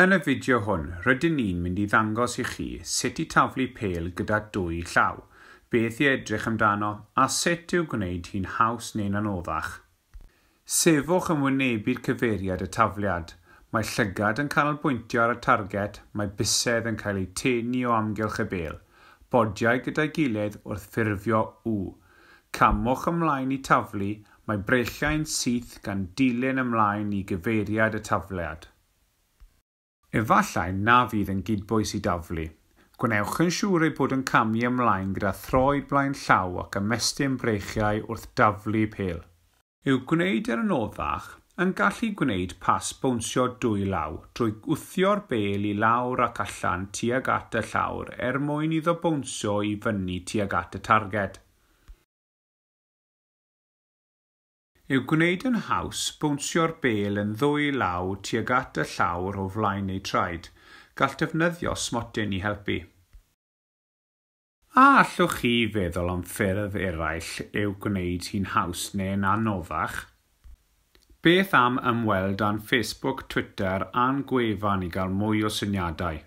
Yn y fideo hwn, rydyn ni'n mynd i ddangos i chi sut i taflu pêl gyda dwy llaw, beth i edrych amdano a sut i'w gwneud hi'n haws neu'n anoddach. Sefwch yn wynebu'r cyfeiriad y tafliad. Mae llygad yn canolbwyntio ar y targed, mae bysedd yn cael eu tenu o amgylch y bêl, bodiau gyda'i gilydd wrth ffurfio U. Camwch ymlaen i taflu, mae breichiau'n syth gan dilyn ymlaen i gyfeiriad y tafliad. Efallai na fydd yn gydbwys i daflu. Gwnewch yn siŵr ei bod yn camu ymlaen gyda throed blaen llaw ac ymestyn breichiau wrth daflu pêl. I'w gwneud yn anoddach, yn gallu gwneud pas bownsio dwy law drwy wthio'r bêl i lawr ac allan tuag at y llawr er mwyn iddo bownsio i fyny tuag at y targed. I'w gwneud yn haws, bownsio'r bêl yn ddwy law tuag at y llawr o flaen eu traed. Gall defnyddio smotyn i helpu. A allwch chi feddwl am ffyrdd eraill i'w gwneud hi'n haws neu'n anoddach? Beth am ymweld â'n Facebook, Twitter a'n gwefan i gael mwy o syniadau?